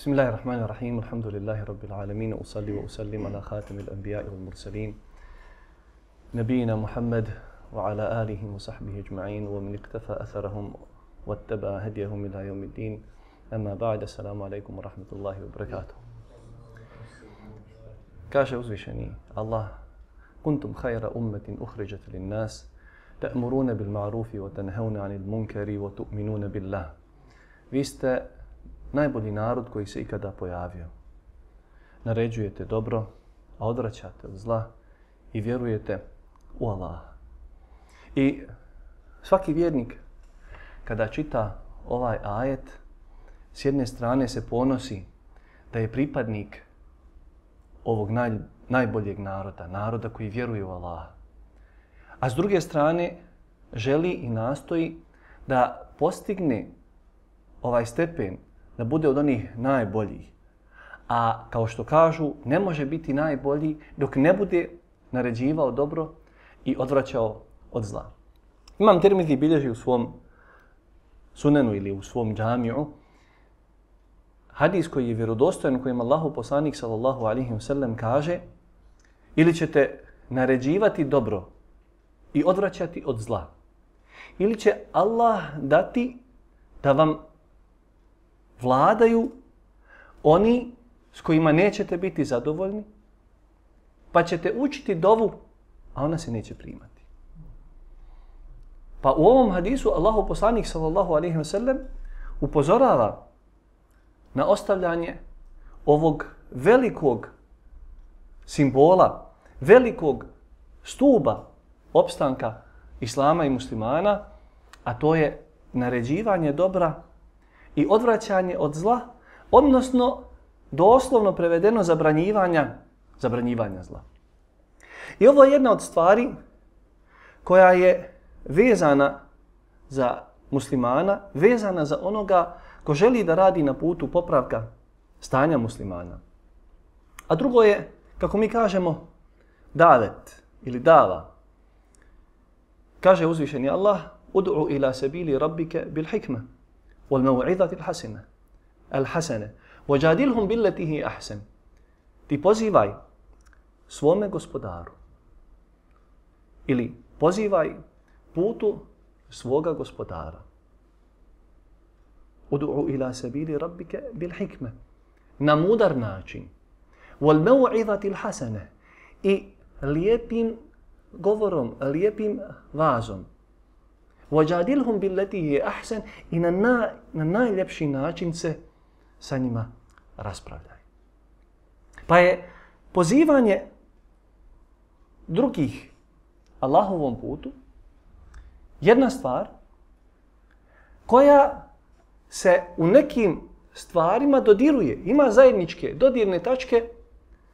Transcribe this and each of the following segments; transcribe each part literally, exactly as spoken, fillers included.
Bismillahirrahmanirrahim. Alhamdulillahi rabbil alamin. Usalli wa usallim ala khatamil anbiya'i wal mursalin. Nabiyina Muhammad wa ala alihi wa sahbihi ajma'in wa man iqtafa atharahum wattaba hadiyahum ila yawmiddin. Amma ba'd. Assalamu alaikum wa rahmatullahi wa barakatuh. Kaže uzvišeni Allah: Kuntum khayra ummatin ukhrijat lin-nas ta'muruna bil ma'rufi wa tanhauna 'anil munkari wa tu'minuna billah. Vi ste najbolji narod koji se ikada pojavio. Naređujete dobro, a odvraćate od zla i vjerujete u Allaha. I svaki vjernik kada čita ovaj ajet, s jedne strane se ponosi da je pripadnik ovog naj, najboljeg naroda, naroda koji vjeruje u Allaha. A s druge strane želi i nastoji da postigne ovaj stepen, da bude od onih najboljih. A kao što kažu, ne može biti najbolji dok ne bude naređivao dobro i odvraćao od zla. Imam Tirmizi bilježi u svom sunenu ili u svom džamiju hadis koji je vjerodostojan, u kojem Allahu poslanik sallallahu alejhi ve sellem kaže: ili ćete naređivati dobro i odvraćati od zla, ili će Allah dati da vam vladaju oni s kojima nećete biti zadovoljni, pa ćete učiti dovu, a ona se neće primati. Pa u ovom hadisu Allahu poslanik sallallahu alejhi ve sellem upozorava na ostavljanje ovog velikog simbola, velikog stuba opstanka islama i muslimana, a to je naređivanje dobra i odvraćanje od zla, odnosno doslovno prevedeno zabranjivanja, zabranjivanja zla. I ovo je jedna od stvari koja je vezana za muslimana, vezana za onoga ko želi da radi na putu popravka stanja muslimana. A drugo je, kako mi kažemo, davet ili dava. Kaže uzvišeni Allah: Ud'u ila sabili rabbike bil hikma wal maw'izati al hasana al hasana wajadilhum billati hi ahsan. Ti pozivaj svome gospodaru ili pozivaj putu svoga gospodara. Ud'u ila sabili rabbike bil hikma, na mudar način, wal maw'izati al hasana, i lijepim govorom, lijepim vazom. Wajadilhum billati hi ahsan, i na, na, na najljepši način se sa njima raspravljaj. Pa je pozivanje drugih Allahovom putu jedna stvar koja se u nekim stvarima dodiruje, ima zajedničke dodirne tačke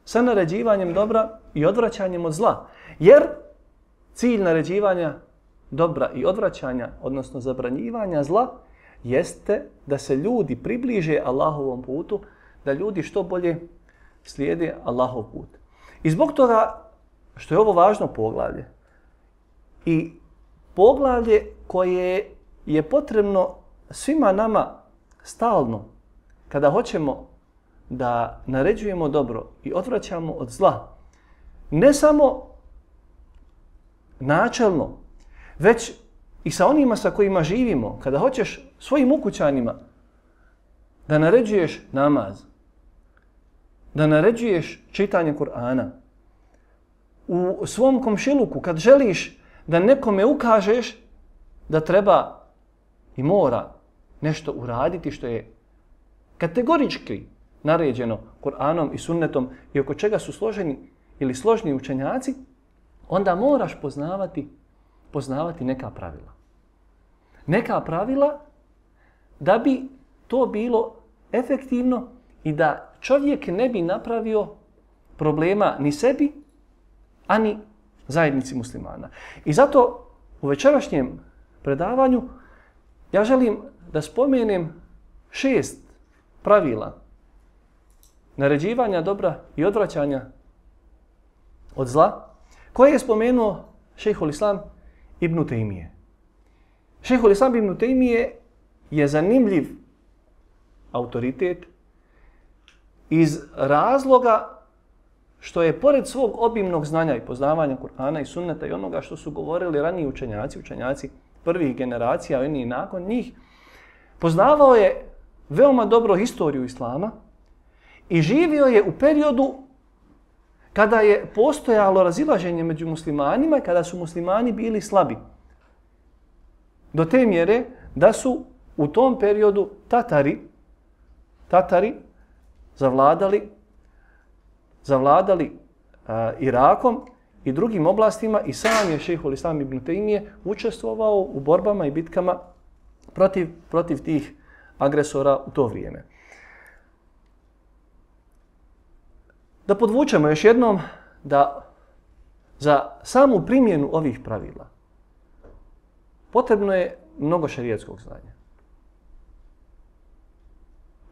sa naređivanjem dobra i odvraćanjem od zla. Jer cilj naređivanja dobra i odvraćanja, odnosno zabranjivanja zla, jeste da se ljudi približe Allahovom putu, da ljudi što bolje slijede Allahov put. I zbog toga što je ovo važno poglavlje i poglavlje koje je potrebno svima nama stalno kada hoćemo da naređujemo dobro i odvraćamo od zla, ne samo načelno, već i sa onima sa kojima živimo. Kada hoćeš svojim ukućanima da naređuješ namaz, da naređuješ čitanje Kur'ana, u svom komšiluku kad želiš da nekome ukažeš da treba i mora nešto uraditi što je kategorički naređeno Kur'anom i sunnetom i oko čega su složeni ili složni učenjaci, onda moraš poznavati, poznavati neka pravila. Neka pravila da bi to bilo efektivno i da čovjek ne bi napravio problema ni sebi, ani zajednici muslimana. I zato u večerašnjem predavanju ja želim da spomenem šest pravila naređivanja dobra i odvraćanja od zla, koje je spomenuo šejhul Islam ibn Tejmije. Šejhul Islam ibn Tejmije je zanimljiv autoritet iz razloga što je pored svog obimnog znanja i poznavanja Kur'ana i sunneta i onoga što su govorili raniji učenjaci, učenjaci prvih generacija, oni i nakon njih, poznavao je veoma dobro historiju Islama i živio je u periodu kada je postojalo razilaženje među muslimanima i kada su muslimani bili slabi. Do te mjere da su u tom periodu Tatari, Tatari zavladali, zavladali uh, Irakom i drugim oblastima i sam je šejhul Islam ibn Tejmije učestvovao u borbama i bitkama protiv, protiv tih agresora u to vrijeme. Da podvučemo još jednom da za samu primjenu ovih pravila potrebno je mnogo šerijatskog znanja.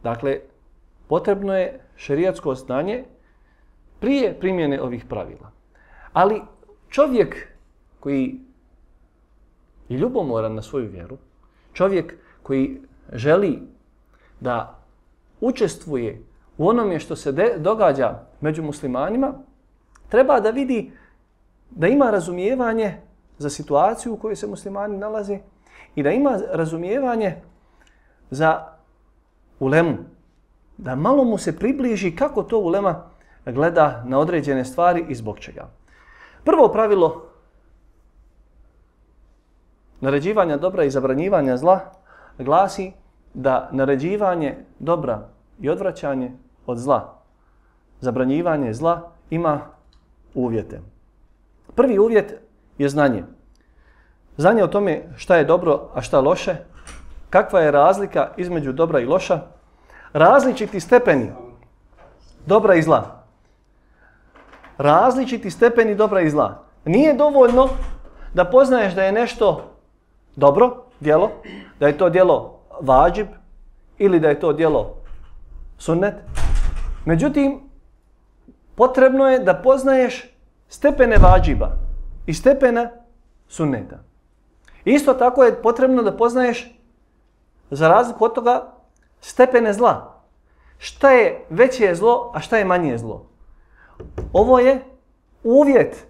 Dakle, potrebno je šerijatsko znanje prije primjene ovih pravila. Ali čovjek koji je ljubomoran na svoju vjeru, čovjek koji želi da učestvuje u onome što se de, događa među muslimanima, treba da vidi da ima razumijevanje za situaciju u kojoj se muslimani nalaze i da ima razumijevanje za ulemu. Da malo mu se približi kako to ulema gleda na određene stvari i zbog čega. Prvo pravilo naređivanja dobra i zabranjivanja zla glasi da naređivanje dobra i odvraćanje od zla, zabranjivanje zla ima uvjete. Prvi uvjet je znanje. Znanje o tome šta je dobro, a šta loše, kakva je razlika između dobra i loša, različiti stepeni dobra i zla. Različiti stepeni dobra i zla. Nije dovoljno da poznaješ da je nešto dobro djelo, da je to djelo vađib ili da je to djelo sunnet. Međutim, potrebno je da poznaješ stepene vađiba i stepena sunneta. Isto tako je potrebno da poznaješ, za razliku od toga, stepene zla. Šta je veće zlo, a šta je manje zlo. Ovo je uvjet.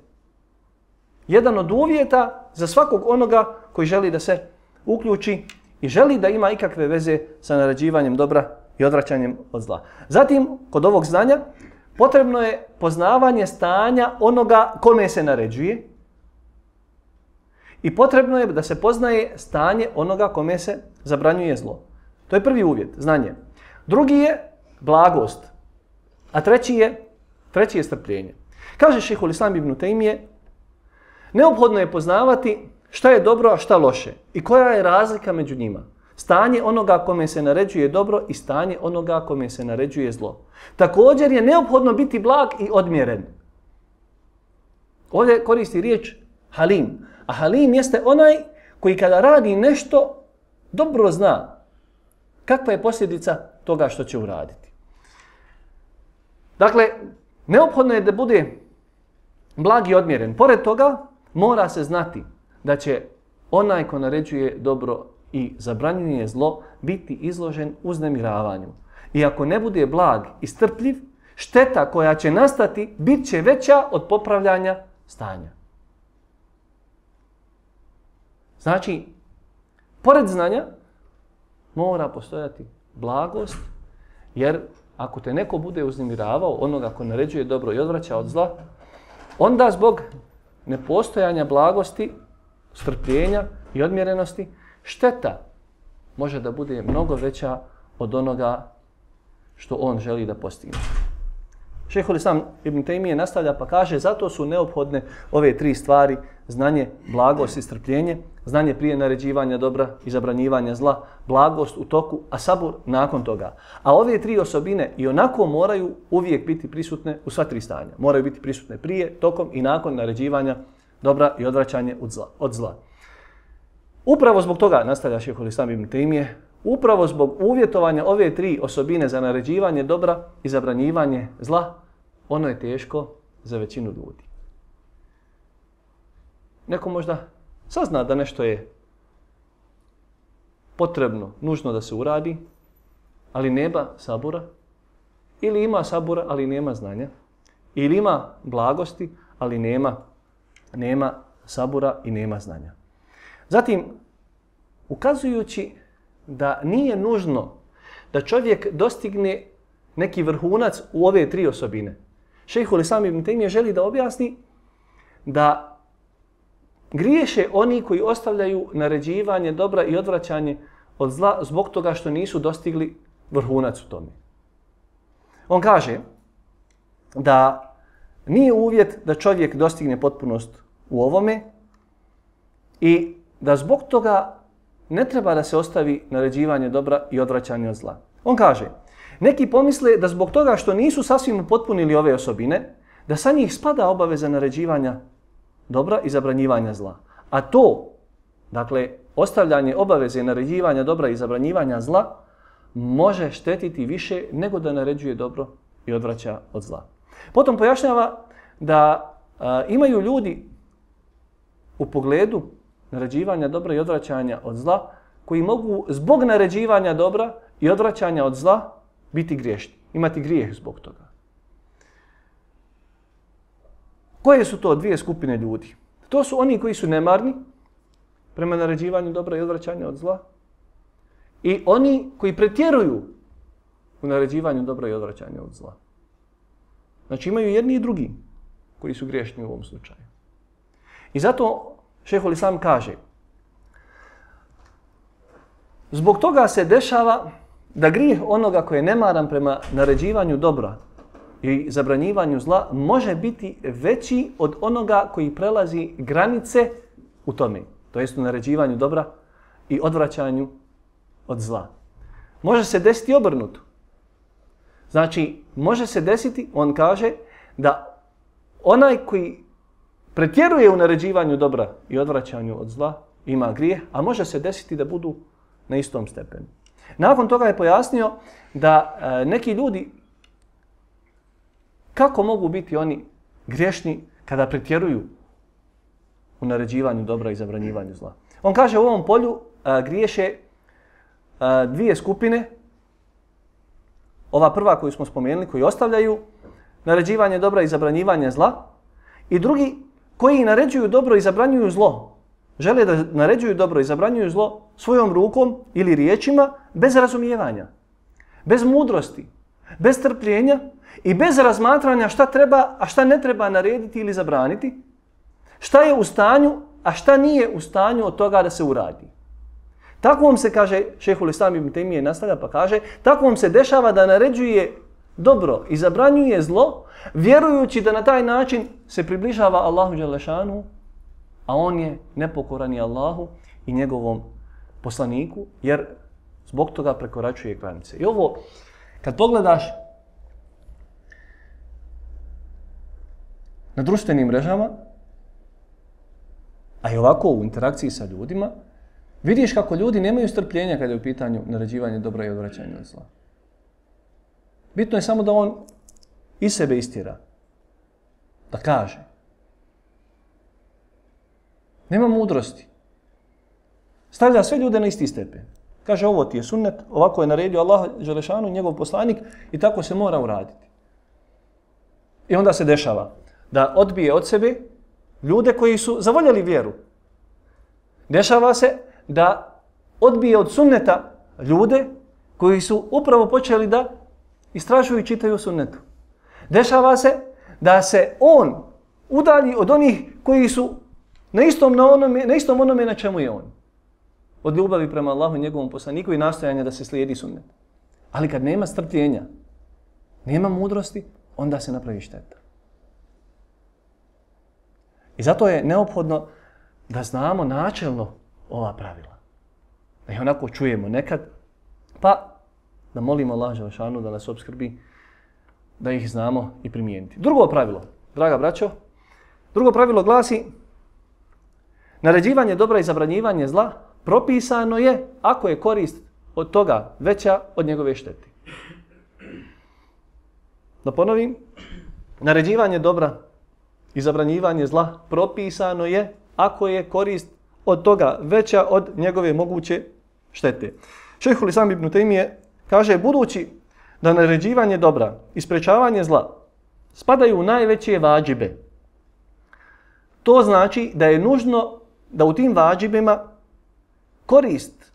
Jedan od uvjeta za svakog onoga koji želi da se uključi i želi da ima ikakve veze sa naređivanjem dobra i odvraćanjem od zla. Zatim, kod ovog znanja, potrebno je poznavanje stanja onoga kome se naređuje i potrebno je da se poznaje stanje onoga kome se zabranjuje zlo. To je prvi uvjet, znanje. Drugi je blagost, a treći je, treći je strpljenje. Kaže šejhul Islam ibn Tejmije, neophodno je poznavati šta je dobro, a šta loše i koja je razlika među njima. Stanje onoga kome se naređuje dobro i stanje onoga kome se naređuje zlo. Također je neophodno biti blag i odmjeren. Ovdje koristi riječ halim. A halim jeste onaj koji kada radi nešto dobro zna kakva je posljedica toga što će uraditi. Dakle, neophodno je da bude blag i odmjeren. Pored toga, mora se znati da će onaj ko naređuje dobro i zabranjuje zlo biti izložen uznemiravanju. I ako ne bude blag i strpljiv, šteta koja će nastati bit će veća od popravljanja stanja. Znači, pored znanja mora postojati blagost, jer ako te neko bude uznemiravao, onoga ko naređuje dobro i odvraća od zla, onda zbog nepostojanja blagosti, strpljenja i odmjerenosti, šteta može da bude mnogo veća od onoga što on želi da postigne. Šejhul Islam ibn Tejmije nastavlja pa kaže, zato su neophodne ove tri stvari, znanje, blagost i strpljenje, znanje prije naređivanja dobra i zabranjivanja zla, blagost u toku, a sabur nakon toga. A ove tri osobine i onako moraju uvijek biti prisutne u sva tri stanja. Moraju biti prisutne prije, tokom i nakon naređivanja dobra i odvraćanje od zla. Od zla. Upravo zbog toga, nastavlja šejhul Islam ibn Tejmije, upravo zbog uvjetovanja ove tri osobine za naređivanje dobra i zabranjivanje zla, ono je teško za većinu ljudi. Neko možda sazna da nešto je potrebno, nužno da se uradi, ali nema sabura ili ima sabura, ali nema znanja, ili ima blagosti, ali nema, nema sabura i nema znanja. Zatim, ukazujući da nije nužno da čovjek dostigne neki vrhunac u ove tri osobine, Šejhul Islam ibn Tejmije želi da objasni da griješe oni koji ostavljaju naređivanje dobra i odvraćanje od zla zbog toga što nisu dostigli vrhunac u tome. On kaže da nije uvjet da čovjek dostigne potpunost u ovome i da zbog toga ne treba da se ostavi naređivanje dobra i odvraćanje od zla. On kaže, neki pomisle da zbog toga što nisu sasvim upotpunili ove osobine, da sa njih spada obaveza naređivanja dobra i zabranjivanja zla. A to, dakle, ostavljanje obaveze naređivanja dobra i zabranjivanja zla, može štetiti više nego da naređuje dobro i odvraća od zla. Potom pojašnjava da a, imaju ljudi u pogledu naređivanja dobra i odvraćanja od zla koji mogu zbog naređivanja dobra i odvraćanja od zla biti griješni, imati grijeh zbog toga. Koje su to dvije skupine ljudi? To su oni koji su nemarni prema naređivanju dobra i odvraćanja od zla i oni koji pretjeruju u naređivanju dobra i odvraćanja od zla. Znači imaju jedni i drugi koji su griješni u ovom slučaju. I zato Šejhul Islam kaže, zbog toga se dešava da grijeh onoga koji je nemaran prema naređivanju dobra i zabranjivanju zla može biti veći od onoga koji prelazi granice u tome, to jest u naređivanju dobra i odvraćanju od zla. Može se desiti obrnuto. Znači, može se desiti, on kaže, da onaj koji pretjeruje u naređivanju dobra i odvraćanju od zla ima grijeh, a može se desiti da budu na istom stepenu. Nakon toga je pojasnio da e, neki ljudi, kako mogu biti oni griješni kada pretjeruju u naređivanju dobra i zabranjivanju zla. On kaže u ovom polju a, griješe a, dvije skupine. Ova prva koju smo spomenuli, koji ostavljaju naređivanje dobra i zabranjivanje zla, i drugi koji naređuju dobro i zabranjuju zlo. Žele da naređuju dobro i zabranjuju zlo svojom rukom ili riječima bez razumijevanja, bez mudrosti, bez trpljenja i bez razmatranja šta treba, a šta ne treba narediti ili zabraniti, šta je u stanju, a šta nije u stanju od toga da se uradi. Takvom se, kaže Šejhul Islam ibn Tejmije, nastavlja pa kaže, takvom se dešava da naređuje dobro i zabranjuje zlo, vjerujući da na taj način se približava Allahu dželešanu, a on je nepokoran i Allahu i njegovom poslaniku, jer zbog toga prekoračuje granice. I ovo, kad pogledaš na društvenim mrežama, a i ovako u interakciji sa ljudima, vidiš kako ljudi nemaju strpljenja kada je u pitanju naređivanje dobra i odvraćanja od zla. Bitno je samo da on iz sebe istjera, da kaže. Nema mudrosti. Stavlja sve ljude na isti stepen. Kaže, ovo ti je sunnet, ovako je naredio Allah dželešanu, njegov poslanik, i tako se mora uraditi. I onda se dešava da odbije od sebe ljude koji su zavoljeli vjeru. Dešava se da odbije od sunneta ljude koji su upravo počeli da istražuju i čitaju sunnetu. Dešava se da se on udalji od onih koji su na istom, na onome, na istom onome na čemu je on. Od ljubavi prema Allahu i njegovom poslaniku i nastojanja da se slijedi sunnet. Ali kad nema strpljenja, nema mudrosti, onda se napravi šteta. I zato je neophodno da znamo načelno ova pravila. Da ih onako čujemo nekad, pa da molimo Allah dželešanu da nas opskrbi, da ih znamo i primijeniti. Drugo pravilo, draga braćo, drugo pravilo glasi: naređivanje dobra i zabranjivanje zla propisano je ako je korist od toga veća od njegove štete. Da ponovim, naređivanje dobra i zabranjivanje zla propisano je ako je korist od toga veća od njegove moguće štete. Šejhul Islam ibn Tejmije kaže, budući da naređivanje dobra i sprečavanje zla spadaju u najveće vađibe. To znači da je nužno da u tim vađibima korist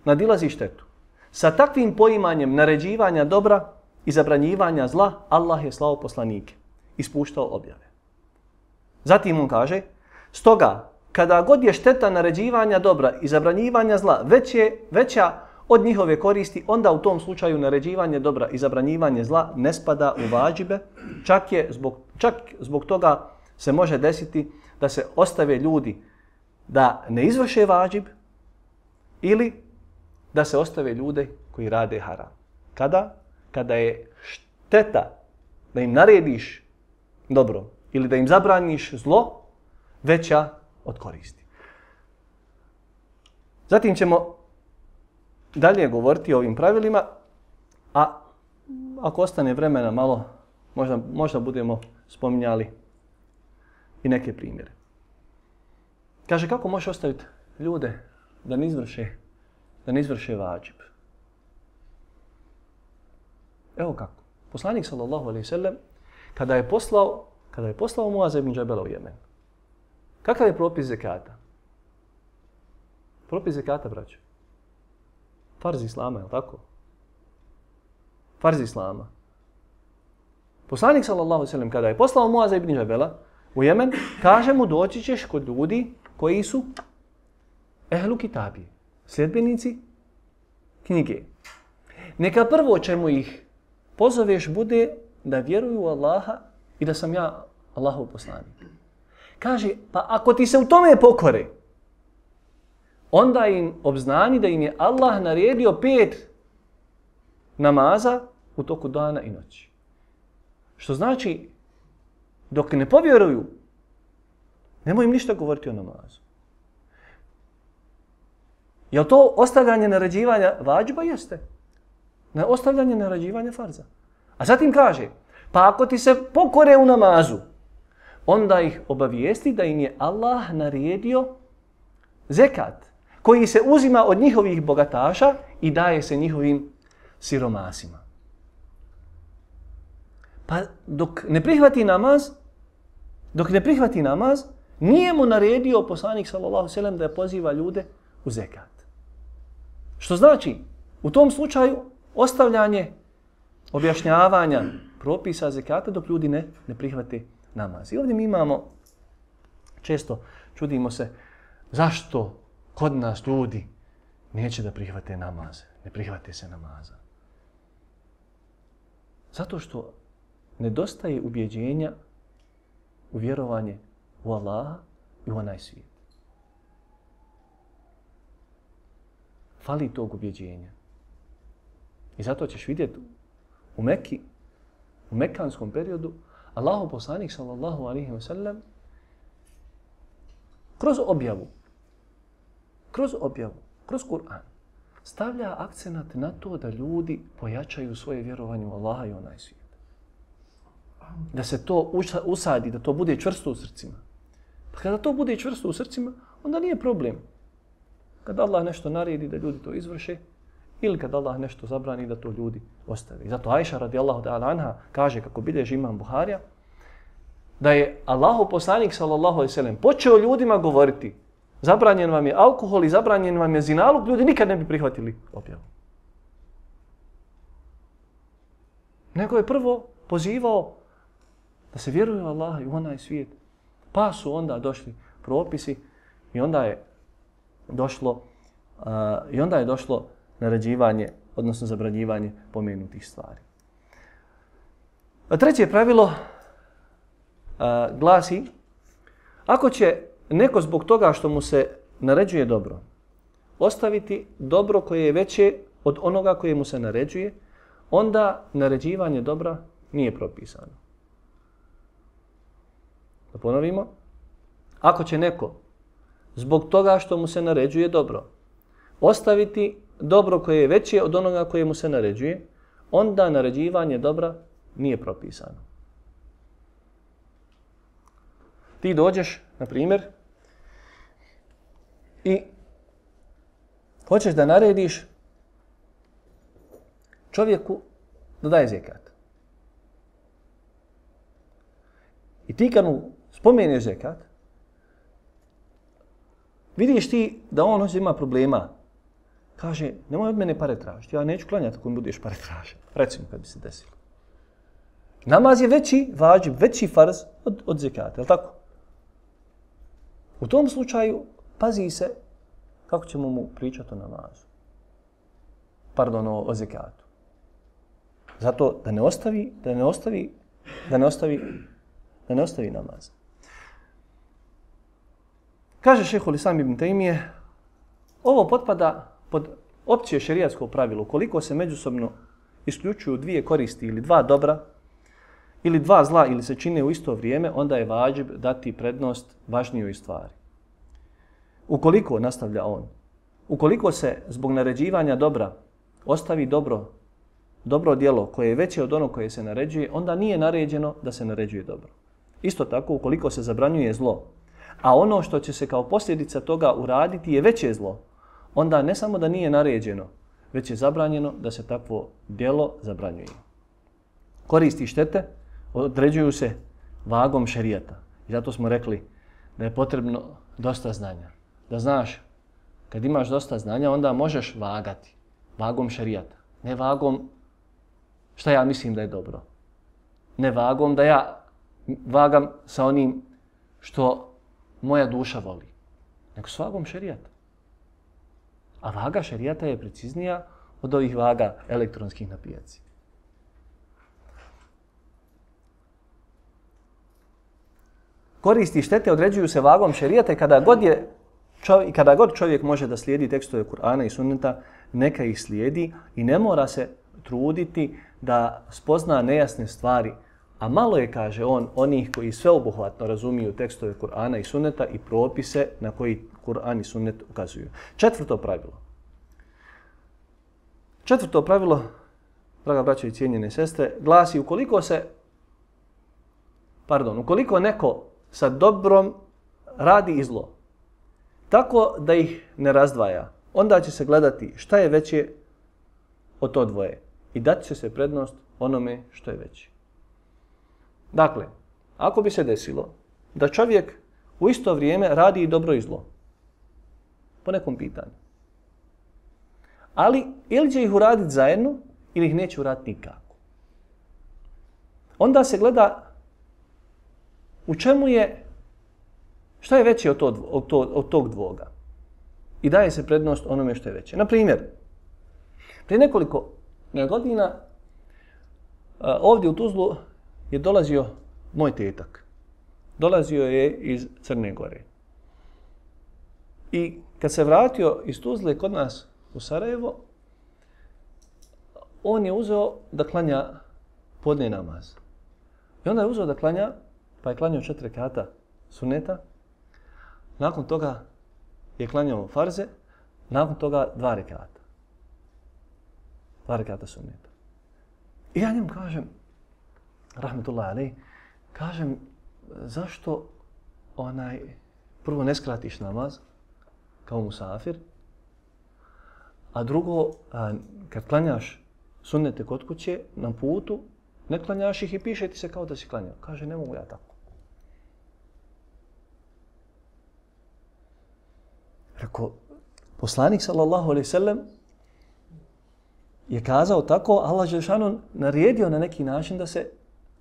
nadilazi štetu. Sa takvim poimanjem naređivanja dobra i zabranjivanja zla, Allah je slao poslanike, ispuštao objave. Zatim on kaže, stoga, kada god je šteta naređivanja dobra i zabranjivanja zla veće, veća od njihove koristi, onda u tom slučaju naređivanje dobra i zabranjivanje zla ne spada u vađibe, čak, je zbog, čak zbog toga se može desiti da se ostave ljudi da ne izvrše vađib ili da se ostave ljude koji rade haram. Kada? Kada je šteta da im narediš dobro ili da im zabraniš zlo veća od koristi. Zatim ćemo dalje govoriti o ovim pravilima, a ako ostane vremena malo, možda, možda budemo spominjali i neke primjere. Kaže, kako možeš ostaviti ljude da ne izvrše, da ne izvrše vađib? Evo kako. Poslanik sallallahu alejhi ve sellem kada je poslao, kada je poslao Muaza ibn Džabela u Jemen. Kakav je propis zekata? Propis zekata, braćo. Farz islama, je li tako? Farz islama. Poslanik sallallahu alejhi ve sellem kada je poslao Muaza ibn Džabela u Jemen, kaže mu doći ćeš kod ljudi koji su ehlu kitabije, sljedbenici knjige. Neka prvo čemu ih pozoveš bude da vjeruju u Allaha i da sam ja Allahov poslanik. Kaže, pa ako ti se u tome pokore, onda im obznani da im je Allah naredio pet namaza u toku dana i noći. Što znači, dok ne povjeruju, nemoj im ništa govoriti o namazu. Je li to ostavljanje naređivanja vađba? Jeste. Na ostavljanje naređivanja farza. A zatim kaže, pa ako ti se pokore u namazu, onda ih obavijesti da im je Allah naredio zekat, koji se uzima od njihovih bogataša i daje se njihovim siromasima. Pa dok ne prihvati namaz, dok ne prihvati namaz, nije mu naredio poslanik sallallahu alejhi ve sellem da poziva ljude u zekat. Što znači, u tom slučaju ostavljanje objašnjavanja propisa zekata dok ljudi ne, ne prihvate namaz. I ovdje mi imamo, često čudimo se, zašto kod nas ljudi neće da prihvate namaze, ne prihvate se namaza. Zato što nedostaje ubjeđenja u vjerovanje u Allaha i u onaj svijet. Fali tog ubjeđenja. I zato ćeš vidjeti u Mekki, u mekanskom periodu, Allahov poslanik sallallahu alejhi ve sellem kroz objavu, kroz objavu, kroz Kur'an, stavlja akcenat na to da ljudi pojačaju svoje vjerovanje u Allaha i onaj svijet. Da se to usadi, da to bude čvrsto u srcima. Pa kada to bude čvrsto u srcima, onda nije problem. Kada Allah nešto naredi da ljudi to izvrše, ili kada Allah nešto zabrani da to ljudi ostave. Zato Ajša radijallahu ta'ala anha kaže, kako bilježi imam Buharija, da je Allahov poslanik sallallahu alejhi ve sellem počeo ljudima govoriti, zabranjen vam je alkohol i zabranjen vam je zinaluk, ljudi nikad ne bi prihvatili objavu. Nego je prvo pozivao da se vjeruje u Allaha i u onaj svijet. Pa su onda došli propisi i onda je došlo uh, i onda je došlo naređivanje, odnosno zabranjivanje pomenutih stvari. A treće pravilo uh, glasi, ako će neko zbog toga što mu se naređuje dobro, ostaviti dobro koje je veće od onoga koje mu se naređuje, onda naređivanje dobra nije propisano. Da ponovimo, ako će neko zbog toga što mu se naređuje dobro, ostaviti dobro koje je veće od onoga koje mu se naređuje, onda naređivanje dobra nije propisano. Ti dođeš, na primjer, i hoćeš da narediš čovjeku da daje zekat. I ti kad mu spomeneš zekat, vidiš ti da on ovdje ima problema. Kaže, nemoj od mene pare tražiti, ja neću klanjati ako mi budeš pare tražiti. Recimo kad bi se desilo. Namaz je veći vađib, veći farz od, od zekata, je li tako? U tom slučaju pazi se kako ćemo mu pričati o namazu. Pardon, o, o zekatu. Zato da ne ostavi, da ne ostavi, da ne ostavi, da ne ostavi namaz. Kaže šejhul Islam ibn Tejmije, ovo potpada pod opće šerijatsko pravilo. Koliko se međusobno isključuju dvije koristi ili dva dobra, ili dva zla ili se čine u isto vrijeme, onda je vađib dati prednost važnijoj stvari. Ukoliko, nastavlja on, ukoliko se zbog naređivanja dobra ostavi dobro, dobro djelo koje je veće od onog koje se naređuje, onda nije naređeno da se naređuje dobro. Isto tako, ukoliko se zabranjuje zlo, a ono što će se kao posljedica toga uraditi je veće zlo, onda ne samo da nije naređeno, već je zabranjeno da se takvo djelo zabranjuje. Koristi i štete određuju se vagom šerijata. I zato smo rekli da je potrebno dosta znanja. Da znaš, kad imaš dosta znanja, onda možeš vagati vagom šerijata. Ne vagom šta ja mislim da je dobro. Ne vagom da ja vagam sa onim što moja duša voli. Nego s vagom šerijata. A vaga šerijata je preciznija od ovih vaga elektronskih na pijaci. Koristi i štete određuju se vagom šerijata i kada god je čovjek, kada god čovjek može da slijedi tekstove Kur'ana i Sunneta, neka ih slijedi i ne mora se truditi da spozna nejasne stvari. A malo je, kaže on, onih koji sveobuhvatno razumiju tekstove Kur'ana i Sunneta i propise na koji Kur'an i Sunnet ukazuju. Četvrto pravilo. Četvrto pravilo, draga braćo i cijenjene sestre, glasi ukoliko se, pardon, ukoliko neko sa dobrom radi i zlo, tako da ih ne razdvaja, onda će se gledati šta je veće od to dvoje i dati će se prednost onome što je veće. Dakle, ako bi se desilo da čovjek u isto vrijeme radi i dobro i zlo, po nekom pitanju, ali ili će ih uraditi zajedno ili ih neće uraditi nikako, onda se gleda u čemu je, šta je veće od, to, od, to, od tog dvoga i daje se prednost onome što je veće. Na primjer, prije nekoliko godina ovdje u Tuzlu je dolazio moj tetak. Dolazio je iz Crne Gore. I kad se vratio iz Tuzle kod nas u Sarajevo, on je uzeo da klanja podne namaz. I onda je uzeo da klanja, pa je klanjao četiri rekata suneta. Nakon toga je klanjao farze, nakon toga dva rekata. Dva rekata suneta. I ja njemu kažem, rahmetullahi alejhi, kažem, zašto onaj, prvo ne skratiš namaz kao musafir, a drugo, a, kad klanjaš sunnete kod kuće na putu, ne klanjaš ih i piše ti se kao da si klanjao. Kaže, ne mogu ja tako. Rekao, poslanik sallallahu alejhi ve sellem je kazao tako, Allah dželešanu naredio na neki način da se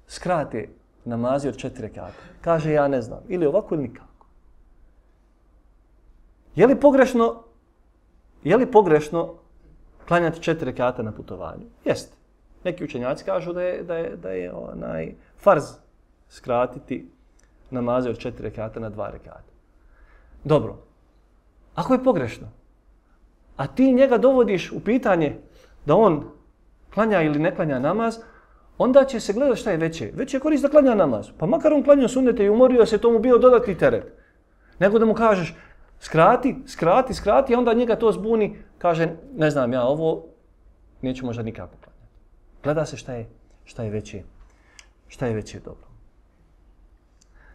skrate namazi od četiri rekata. Kaže, ja ne znam, ili ovako ili nikako. Je li pogrešno, je li pogrešno klanjati četiri rekata na putovanju? Jeste. Neki učenjaci kažu da je, da je, da je onaj farz skratiti namaze od četiri rekata na dva rekata. Dobro. Ako je pogrešno, a ti njega dovodiš u pitanje da on klanja ili ne klanja namaz, onda će se gledati šta je veće. Veće je korist da klanja namaz. Pa makar on klanjao sunnete i umorio se, tomu bio dodatni teret. Nego da mu kažeš skrati, skrati, skrati, a onda njega to zbuni, kaže, ne znam ja, ovo neću možda nikako klanjati. Gleda se šta je, šta je veće, šta je veće dobro.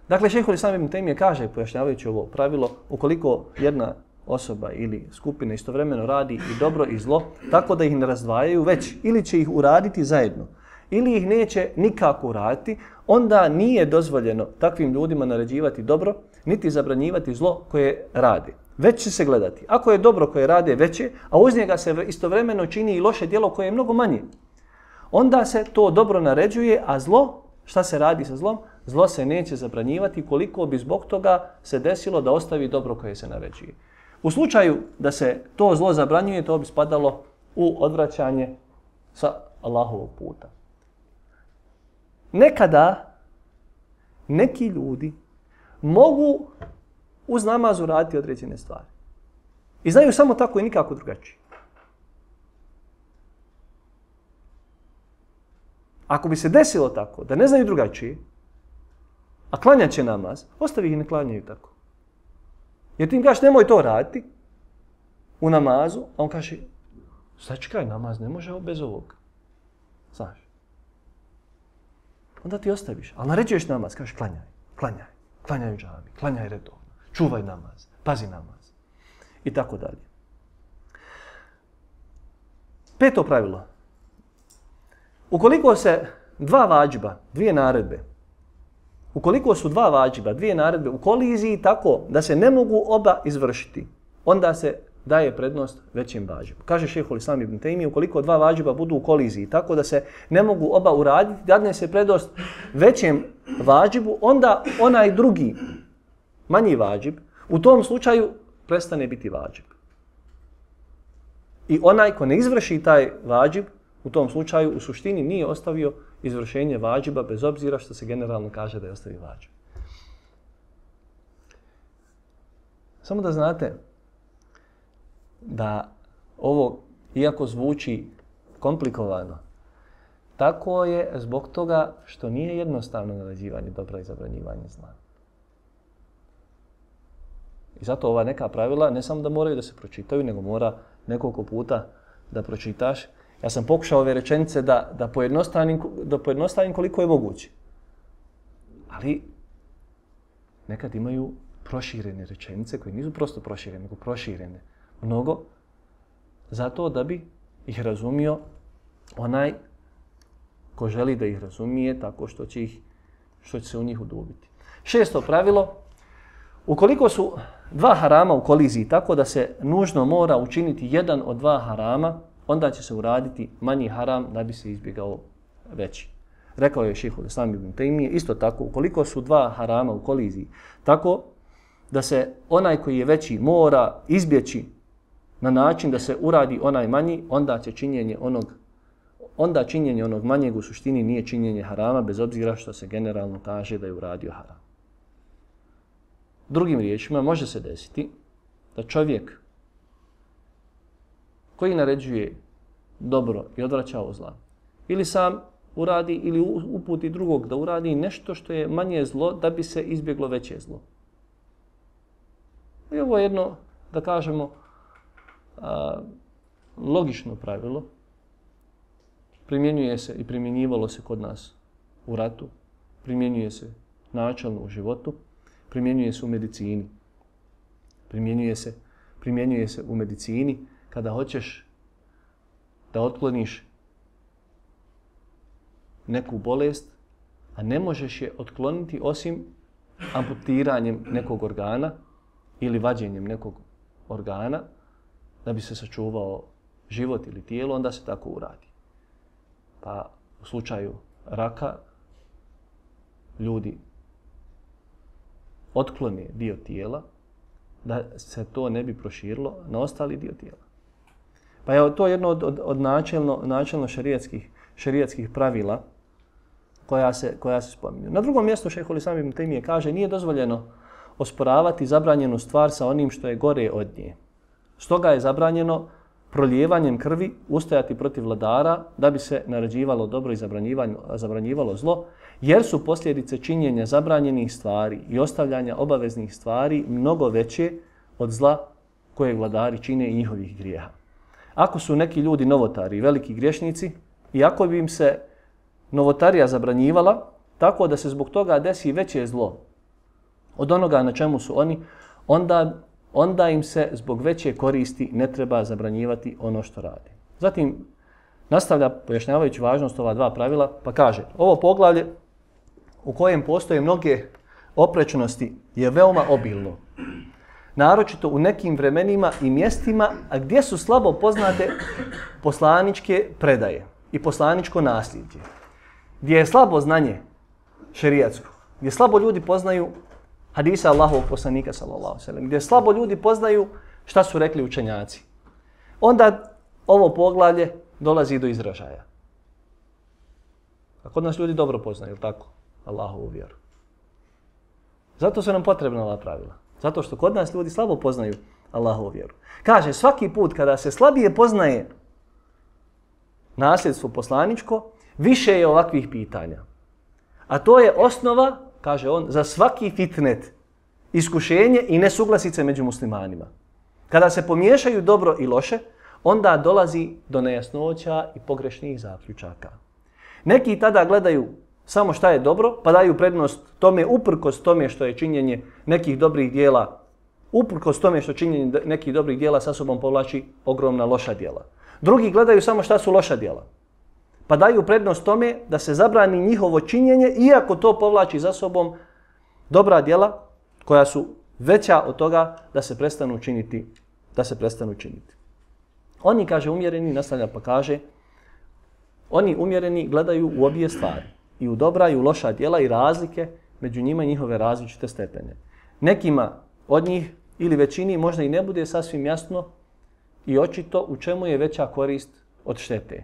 Dakle, šejhul Islam ibn Tejmije kaže, pojašnjavajući ovo pravilo, ukoliko jedna osoba ili skupina istovremeno radi i dobro i zlo, tako da ih ne razdvajaju, već ili će ih uraditi zajedno, ili ih neće nikako uraditi, onda nije dozvoljeno takvim ljudima naređivati dobro, niti zabranjivati zlo koje rade. Već će se gledati. Ako je dobro koje rade veće, a uz njega se istovremeno čini i loše djelo koje je mnogo manje, onda se to dobro naređuje, a zlo, šta se radi sa zlom? Zlo se neće zabranjivati koliko bi zbog toga se desilo da ostavi dobro koje se naređuje. U slučaju da se to zlo zabranjuje, to bi spadalo u odvraćanje sa Allahovog puta. Nekada neki ljudi mogu uz namaz uraditi određene stvari. I znaju samo tako i nikako drugačije. Ako bi se desilo tako, da ne znaju drugačije, a klanjat će namaz, ostavi ih ne klanjaju tako. Jer ti im kažeš nemoj to raditi u namazu, a on kaže sačekaj, namaz ne može bez ovog. Znaš. Onda ti ostaviš, ali naređuješ namaz, kažeš klanjaj, klanjaj, klanjaj u džami, klanjaj redovno, čuvaj namaz, pazi namaz i tako dalje. Peto pravilo. Ukoliko se dva vađiba, dvije naredbe, ukoliko su dva vađiba, dvije naredbe u koliziji tako da se ne mogu oba izvršiti, onda se daje prednost većem vađibu. Kaže šejhul Islam ibn Tejmije, ukoliko dva vađiba budu u koliziji tako da se ne mogu oba uraditi, dadne se prednost većem vađibu, onda onaj drugi, manji vađib, u tom slučaju prestane biti vađib. I onaj ko ne izvrši taj vađib, u tom slučaju u suštini nije ostavio izvršenje vađiba, bez obzira što se generalno kaže da je ostavio vađib. Samo da znate da ovo, iako zvuči komplikovano, tako je zbog toga što nije jednostavno naređivanje dobra i zabranjivanje zla. I zato ova neka pravila ne samo da moraju da se pročitaju, nego mora nekoliko puta da pročitaš. Ja sam pokušao ove rečenice da, da, pojednostavim, da pojednostavim koliko je moguće. Ali nekad imaju proširene rečenice koje nisu prosto proširene, nego proširene mnogo, zato da bi ih razumio onaj ko želi da ih razumije tako što će, ih, što će se u njih udubiti. Šesto pravilo, ukoliko su dva harama u koliziji tako da se nužno mora učiniti jedan od dva harama, onda će se uraditi manji haram da bi se izbjegao veći. Rekao je šejhul Islam ibn Tejmije, isto tako, ukoliko su dva harama u koliziji, tako da se onaj koji je veći mora izbjeći na način da se uradi onaj manji, onda će činjenje onog, onda činjenje onog manjeg u suštini nije činjenje harama, bez obzira što se generalno kaže da je uradio haram. Drugim riječima, može se desiti da čovjek koji naređuje dobro i odvraća od zla, ili sam uradi ili uputi drugog da uradi nešto što je manje zlo da bi se izbjeglo veće zlo. I ovo je jedno, da kažemo, a, logično pravilo. Primjenjuje se i primjenjivalo se kod nas u ratu, primjenjuje se načelno u životu, primjenjuje se u medicini. Primjenjuje se, primjenjuje se u medicini kada hoćeš da otkloniš neku bolest, a ne možeš je otkloniti osim amputiranjem nekog organa ili vađenjem nekog organa da bi se sačuvao život ili tijelo, onda se tako uradi. Pa u slučaju raka ljudi otklone dio tijela da se to ne bi proširilo na ostali dio tijela. Pa je to jedno od, od, od načelno, načelno šerijatskih, šerijatskih pravila koja se, koja se spominju. Na drugom mjestu šejhul Islam ibn Tejmije kaže nije dozvoljeno osporavati zabranjenu stvar sa onim što je gore od nje. Stoga je zabranjeno prolijevanjem krvi ustajati protiv vladara da bi se naređivalo dobro i zabranjivalo zlo, jer su posljedice činjenja zabranjenih stvari i ostavljanja obaveznih stvari mnogo veće od zla koje vladari čine i njihovih grijeha. Ako su neki ljudi novotari i veliki griješnici, i ako bi im se novotarija zabranjivala, tako da se zbog toga desi veće zlo od onoga na čemu su oni, onda onda im se zbog veće koristi ne treba zabranjivati ono što rade. Zatim nastavlja pojašnjavajući važnost ova dva pravila, pa kaže, ovo poglavlje u kojem postoje mnoge oprečnosti je veoma obilno. Naročito u nekim vremenima i mjestima, a gdje su slabo poznate poslaničke predaje i poslaničko nasljeđe. Gdje je slabo znanje šerijatsko, gdje slabo ljudi poznaju hadisa Allahovog poslanika sallallahu alejhi ve sellem, gdje slabo ljudi poznaju šta su rekli učenjaci. Onda ovo poglavlje dolazi do izražaja. A kod nas ljudi dobro poznaju, je li tako? Allahovu vjeru. Zato su nam potrebna ova pravila. Zato što kod nas ljudi slabo poznaju Allahovu vjeru. Kaže, svaki put kada se slabije poznaje nasljedstvo poslaničko, više je ovakvih pitanja. A to je osnova, kaže on, za svaki fitnet, iskušenje i nesuglasice među muslimanima. Kada se pomiješaju dobro i loše, onda dolazi do nejasnoća i pogrešnih zaključaka. Neki tada gledaju samo šta je dobro, pa daju prednost tome uprkos tome što je činjenje nekih dobrih dijela, uprkos tome što činjenje nekih dobrih dijela sa sobom povlači ogromna loša dijela. Drugi gledaju samo šta su loša dijela, pa daju prednost tome da se zabrani njihovo činjenje, iako to povlači za sobom dobra dijela koja su veća od toga da se prestanu činiti, da se prestanu činiti. Oni, kaže, umjereni, nastavlja pa kaže, oni umjereni gledaju u obje stvari, i u dobra i u loša djela i razlike među njima i njihove različite stepene. Nekima od njih ili većini možda i ne bude sasvim jasno i očito u čemu je veća korist od štete.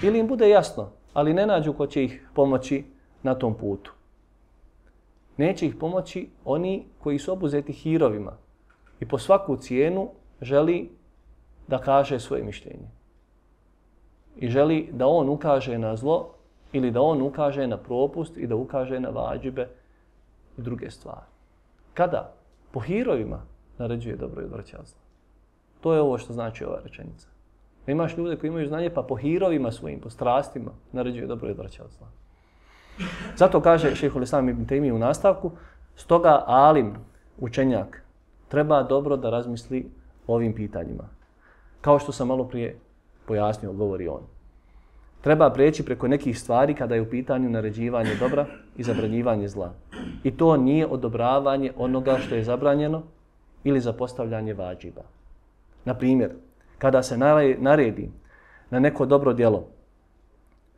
Ili im bude jasno, ali ne nađu ko će ih pomoći na tom putu. Neće ih pomoći oni koji su obuzeti hirovima i po svaku cijenu želi da kaže svoje mišljenje. I želi da on ukaže na zlo ili da on ukaže na propust i da ukaže na vađibe i druge stvari. Kada po hirovima naređuje dobro i odvraća od zla. To je ovo što znači ova rečenica. Da imaš ljude koji imaju znanje pa po hirovima svojim, po strastima naređuje dobro i odvraća od zla. Zato kaže šejhul Islam ibn Tejmije u nastavku, stoga alim, učenjak, treba dobro da razmisli o ovim pitanjima. Kao što sam malo prije pojasnio, govori on. Treba preći preko nekih stvari kada je u pitanju naređivanje dobra i zabranjivanje zla. I to nije odobravanje onoga što je zabranjeno ili zapostavljanje vađiba. Na primjer, kada se naredi na neko dobro djelo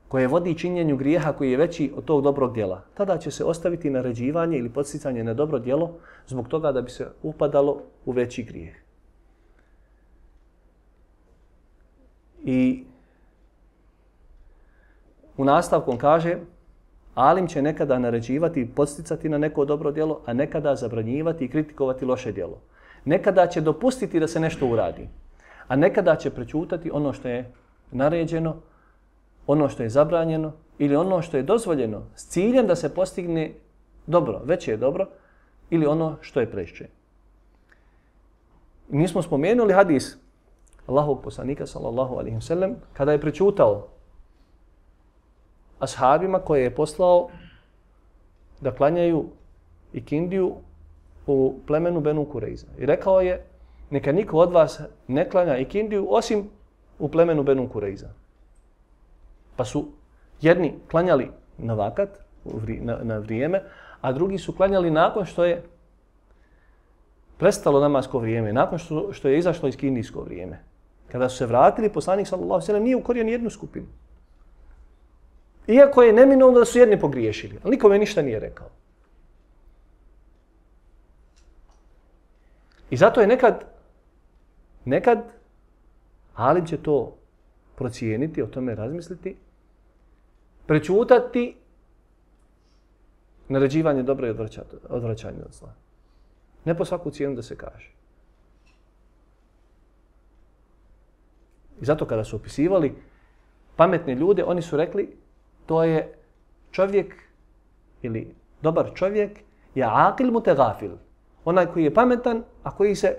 koje vodi činjenju grijeha koji je veći od tog dobrog djela, tada će se ostaviti naređivanje ili podsticanje na dobro djelo zbog toga da bi se upadalo u veći grijeh. I u nastavku on kaže, alim će nekada naređivati i podsticati na neko dobro djelo, a nekada zabranjivati i kritikovati loše djelo. Nekada će dopustiti da se nešto uradi, a nekada će prećutati ono što je naređeno, ono što je zabranjeno ili ono što je dozvoljeno s ciljem da se postigne dobro, veće je dobro, ili ono što je preče. Mi smo spomenuli hadis Allahovog poslanika sallallahu alejhi ve sellem kada je prećutao ashabima koje je poslao da klanjaju ikindiju u plemenu Benu Kurejza. I rekao je, neka niko od vas ne klanja ikindiju osim u plemenu Benu Kurejza. Pa su jedni klanjali na vakat, na, na vrijeme, a drugi su klanjali nakon što je prestalo namasko vrijeme, nakon što, što je izašlo iz kindijsko vrijeme. Kada su se vratili, poslanik sallallahu alejhi ve sellem nije ukorio ni jednu skupinu. Iako je neminovno da su jedni pogriješili, ali nikome ništa nije rekao. I zato je nekad, nekad alim će to procijeniti, o tome razmisliti, prećutati naređivanje dobra i odvraćanje od zla. Ne po svaku cijenu da se kaže. I zato kada su opisivali pametne ljude, oni su rekli to je čovjek ili dobar čovjek je aqil mutegafil. Onaj koji je pametan, a koji se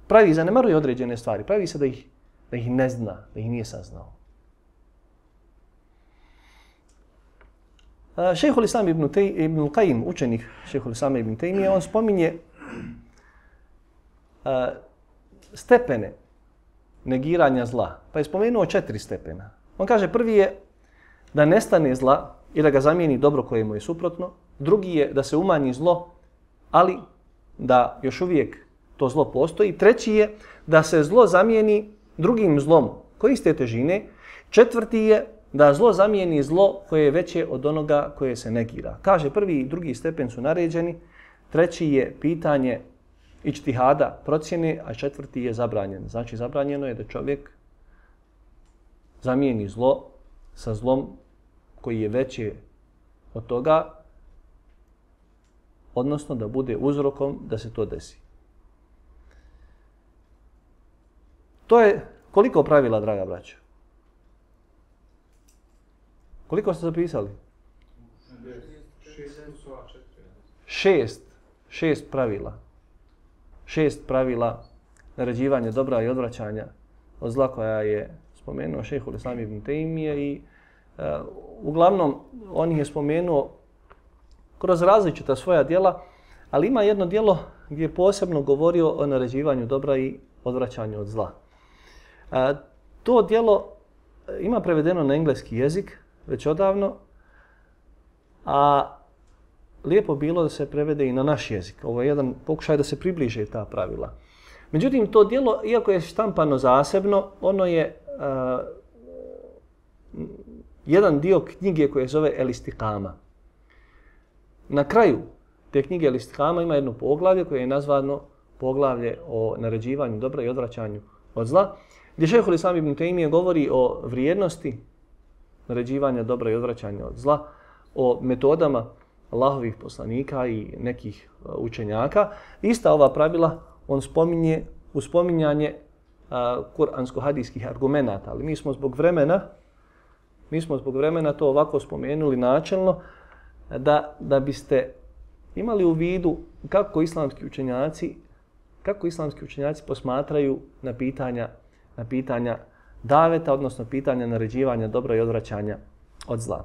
pravi, zanemaruje određene stvari, pravi se da ih, da ih ne zna, da ih nije saznao. Šejhul Islam ibn, ibn Qayyim, učenik Šejhul Islam ibn Tejmije, on spominje a, stepene negiranja zla. Pa je spomenuo četiri stepena. On kaže prvi je da nestane zla i da ga zamijeni dobro koje mu je suprotno. Drugi je da se umanji zlo, ali da još uvijek to zlo postoji. Treći je da se zlo zamijeni drugim zlom koji iste težine. Četvrti je da zlo zamijeni zlo koje je veće od onoga koje se negira. Kaže prvi i drugi stepen su naređeni. Treći je pitanje ičtihada, procjene, a četvrti je zabranjen. Znači zabranjeno je da čovjek zamijeni zlo sa zlom koji je veće od toga, odnosno da bude uzrokom da se to desi. To je koliko pravila, draga braćo? Koliko ste zapisali? Šest. Šest pravila. Šest pravila naređivanja dobra i odvraćanja od zla koja je spomenuo šejhul Islam ibn Tejmije i uh, uglavnom on ih je spomenuo kroz različita svoja djela, ali ima jedno djelo gdje je posebno govorio o naređivanju dobra i odvraćanju od zla. Uh, to djelo ima prevedeno na engleski jezik već odavno, a lijepo bilo da se prevede i na naš jezik. Ovo je jedan pokušaj da se približe ta pravila. Međutim, to djelo, iako je štampano zasebno, ono je uh, jedan dio knjige koje zove El Istiqama. Na kraju te knjige El Istiqama ima jedno poglavlje koje je nazvano poglavlje o naređivanju dobra i odvraćanju od zla, gdje šejhul Islam ibn Tejmije govori o vrijednosti naređivanja dobra i odvraćanja od zla, o metodama Allahovih poslanika i nekih učenjaka. Ista ova pravila on spominje u spominjanje uh, kuransko-hadijskih argumenata, ali mi smo zbog vremena mi smo zbog vremena to ovako spomenuli načelno da, da biste imali u vidu kako islamski učenjaci kako islamski učenjaci posmatraju na pitanja na pitanja daveta, odnosno pitanja naređivanja dobra i odvraćanja od zla.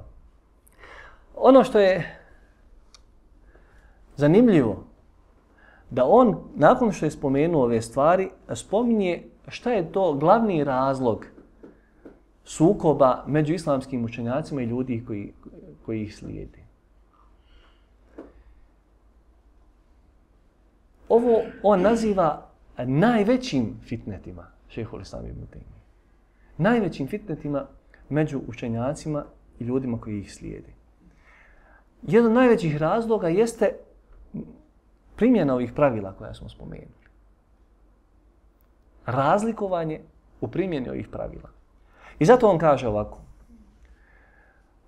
Ono što je zanimljivo, da on, nakon što je spomenuo ove stvari, spominje šta je to glavni razlog sukoba među islamskim učenjacima i ljudi koji, koji ih slijedi. Ovo on naziva najvećim fitnetima, šejhul Islam ibn Tejmije. Najvećim fitnetima među učenjacima i ljudima koji ih slijedi. Jedan od najvećih razloga jeste primjena ovih pravila koja smo spomenuli. Razlikovanje u primjeni ovih pravila. I zato on kaže ovako.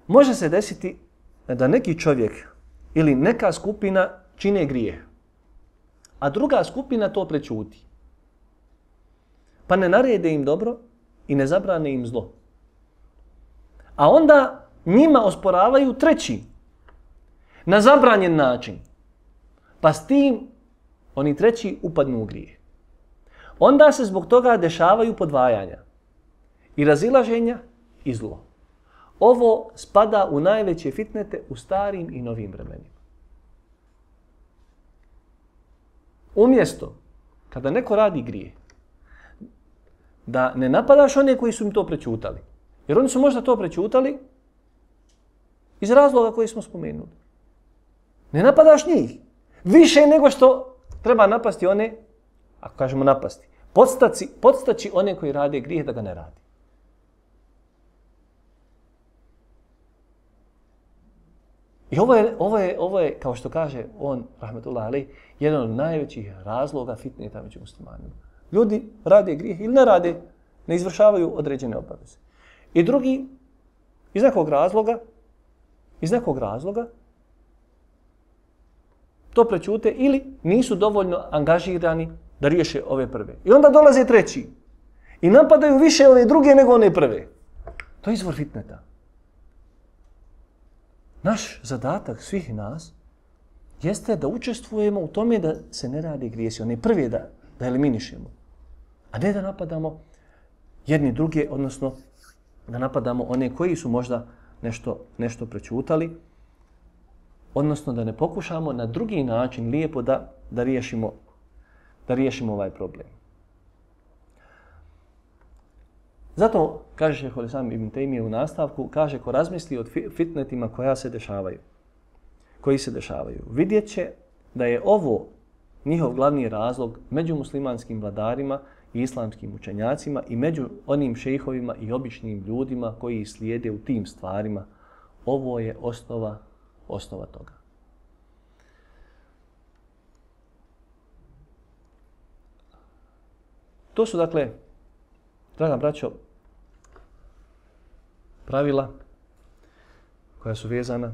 Može se desiti da neki čovjek ili neka skupina čine grijeh, a druga skupina to prečuti. Pa ne narede im dobro i ne zabrane im zlo. A onda njima osporavaju treći na zabranjen način. Pa s tim oni treći upadnu u grijeh. Onda se zbog toga dešavaju podvajanja i razilaženja i zlo. Ovo spada u najveće fitnete u starim i novim vremenima. Umjesto kada neko radi grije, da ne napadaš one koji su im to prečutali. Jer oni su možda to prečutali iz razloga koji smo spomenuli. Ne napadaš njih. Više nego što treba napasti one, ako kažemo napasti, podstaci, podstaći one koji rade grijeh da ga ne radi. I ovo je, ovo je, ovo je, kao što kaže on, rahmetullah alejh, jedan od najvećih razloga fitneta među muslimanima. Ljudi rade grijeh ili ne rade, ne izvršavaju određene obaveze. I drugi, iz nekog razloga, iz nekog razloga, to prečute ili nisu dovoljno angažirani da riješe ove prve. I onda dolaze treći i napadaju više ove druge nego one prve. To je izvor fitneta. Naš zadatak svih nas jeste da učestvujemo u tome da se ne radi grijesi, one prve da, da eliminišemo, a ne da napadamo jedni druge, odnosno da napadamo one koji su možda nešto, nešto prečutali, odnosno da ne pokušamo na drugi način lijepo da, da, riješimo, da riješimo ovaj problem. Zato, kaže šejh Islam ibn Tejmije u nastavku, kaže ko razmisli o fitnetima koja se dešavaju, koji se dešavaju, vidjet će da je ovo njihov glavni razlog među muslimanskim vladarima i islamskim učenjacima i među onim šejhovima i običnim ljudima koji slijede u tim stvarima. Ovo je osnova, osnova toga. To su, dakle, draga braćo, pravila koja su vezana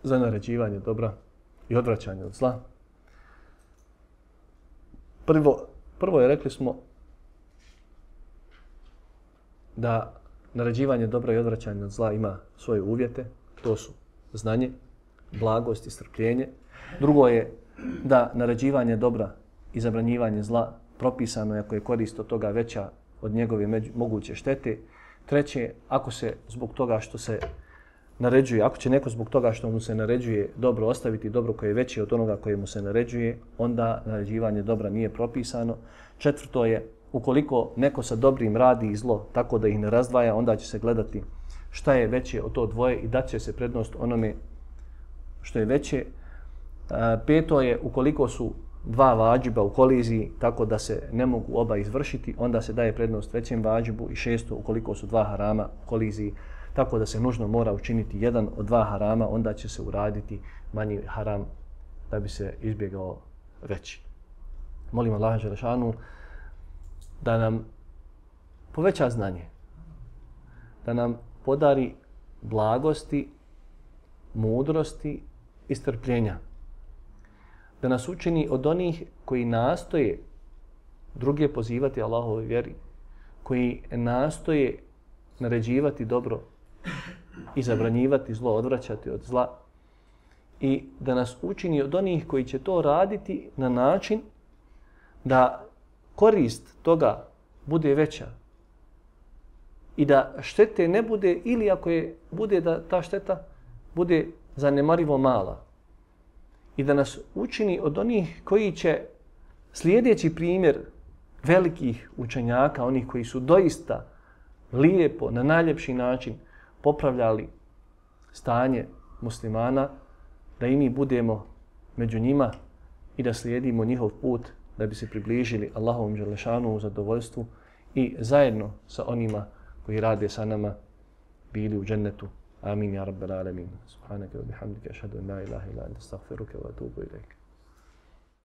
za naređivanje dobra i odvraćanje od zla. Prvo, prvo je, rekli smo, da naređivanje dobra i odvraćanje od zla ima svoje uvjete. To su znanje, blagost i strpljenje. Drugo je da naređivanje dobra i zabranjivanje zla propisano je ako je korist od toga veća od njegove među, moguće štete. Treće, ako se zbog toga što se naređuje, ako će neko zbog toga što mu se naređuje dobro ostaviti dobro koje je veće od onoga koje mu se naređuje, onda naređivanje dobra nije propisano. Četvrto je, ukoliko neko sa dobrim radi i zlo tako da ih ne razdvaja, onda će se gledati šta je veće od to dvoje i dat će se prednost onome što je veće. Peto je, ukoliko su dva vađiba u koliziji tako da se ne mogu oba izvršiti, onda se daje prednost većem vađibu. I šesto, ukoliko su dva harama u koliziji tako da se nužno mora učiniti jedan od dva harama, onda će se uraditi manji haram da bi se izbjegao veći. Molim Allaha dželešanu da nam poveća znanje, da nam podari blagosti, mudrosti i strpljenja, da nas učini od onih koji nastoje druge pozivati Allahovoj vjeri, koji nastoje naređivati dobro i zabranjivati zlo, odvraćati od zla, i da nas učini od onih koji će to raditi na način da korist toga bude veća i da štete ne bude, ili ako je bude da ta šteta bude zanemarivo mala, i da nas učini od onih koji će, slijedeći primjer velikih učenjaka, onih koji su doista lijepo, na najljepši način popravljali stanje muslimana, da i mi budemo među njima i da slijedimo njihov put da bi se približili Allahovom dželešanu u zadovoljstvu i zajedno sa onima koji rade sa nama bili u džennetu. Amin, ja rabbal alamin. Subhanaka wa bihamdika, ashhadu an la ilaha illa anta, astaghfiruka wa atubu ilaik.